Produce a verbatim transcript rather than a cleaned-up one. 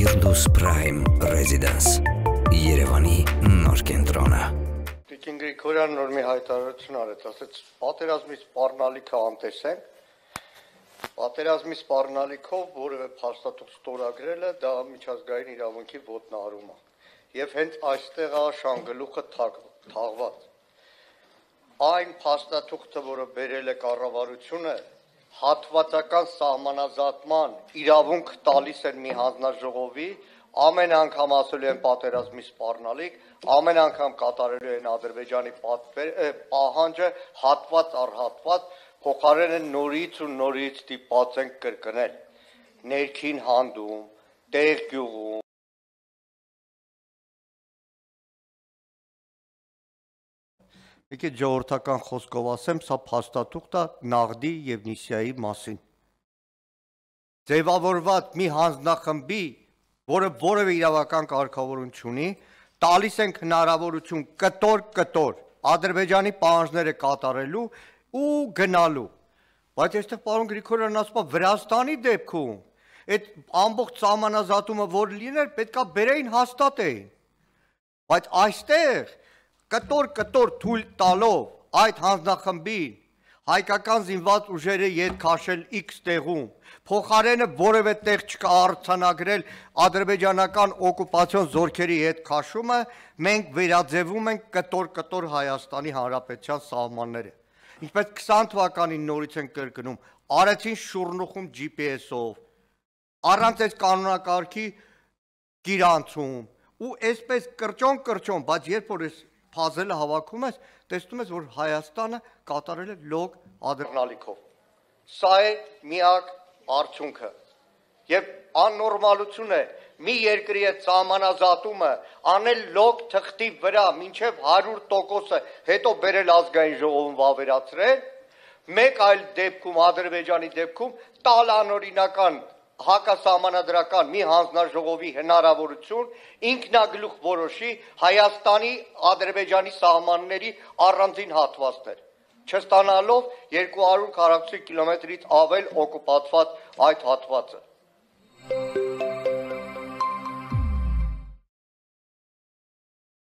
Firdaus Prime Residence Երևանի նոր կենտրոնը Տիկին Գրիգորյան նոր մի հայտարարություն արեց, ասեց պատերազմի սպառնալիքը անտեսենք, պատերազմի սպառնալիքով որևէ փաստաթուղթ ստորագրելը դա միջազգային իրավունքի ոտնահարում է, եւ հենց այստեղ է շանգլուխը թաղված։ Այն փաստաթուղթը, որը բերել է կառավարությունը, հատվածական սահմանազատման իրավունք տալիս են մի հանձնաժողովի, ամեն անգամ ասելու են պատերազմի սպառնալիք, ամեն անգամ կատարելու են Ադրբեջանի պահանջը հատված առ հատված, փոխարենը նորից ու նորից ստիպված են կրկնել, ներքին հանդում, տեղ գյուղում, Եկե ժողովրդական խոսքով ասեմ, սա փաստաթուղթ է Նաղդի եւ Նիսիայի մասին։ Ձևավորված մի հանձնախմբի, որը որևէ իրավական կարգավորություն չունի, տալիս են հնարավորություն կտոր-կտոր Ադրբեջանի պահանջները կատարելու ու գնալու։ Բայց այստեղ պարոն Գրիգորյանն ասում է Վրաստանի դեպքում այդ ամբողջ սահմանազատումը որ լիներ, պետքա բերեին հաստատեին։ Բայց այստեղ կտոր-կտոր թույլ տալով այդ հանձնախմբին հայկական զինված ուժերը ետ քաշել X տեղում, փոխարենը որևէ տեղ չկարծանագրել ադրբեջանական օկուպացիոն զորքերի հետ քաշումը, մենք վերաձևում ենք կտոր-կտոր Հայաստանի Հանրապետության սահմանները։ Ինչպես քսան թվականին նորից են կրկնում, արեցին շուրնուխում G P S-ով, առանց այս կանոնակարգի գիրանցում, ու այսպես կրճոն-կրճոն, բայց երբ որ այս փազելը հավաքում ես, տեսնում ես, որ Հայաստանը կատարել է լոկ ադրբեջանալիքով։ Սա է միակ արդյունքը։ Եվ աննորմալություն է մի երկրի հետ սահմանազատումը անել լոկ թղթի վրա մինչև հարյուր տոկոսը հետո բերել ազգային ժողովում վավերացրել, մեկ այլ դեպքում Ադրբեջանի դեպքում տալ անօրինական հակասահմանադրական մի հանձնաժողովի հնարավորություն ինքնագլուխ որոշի Հայաստանի Ադրբեջանի սահմանների առանձին հատվածներ, չստանալով երկու հարյուր քառակուսի կիլոմետրից ավել օկուպացված այդ հատվածը։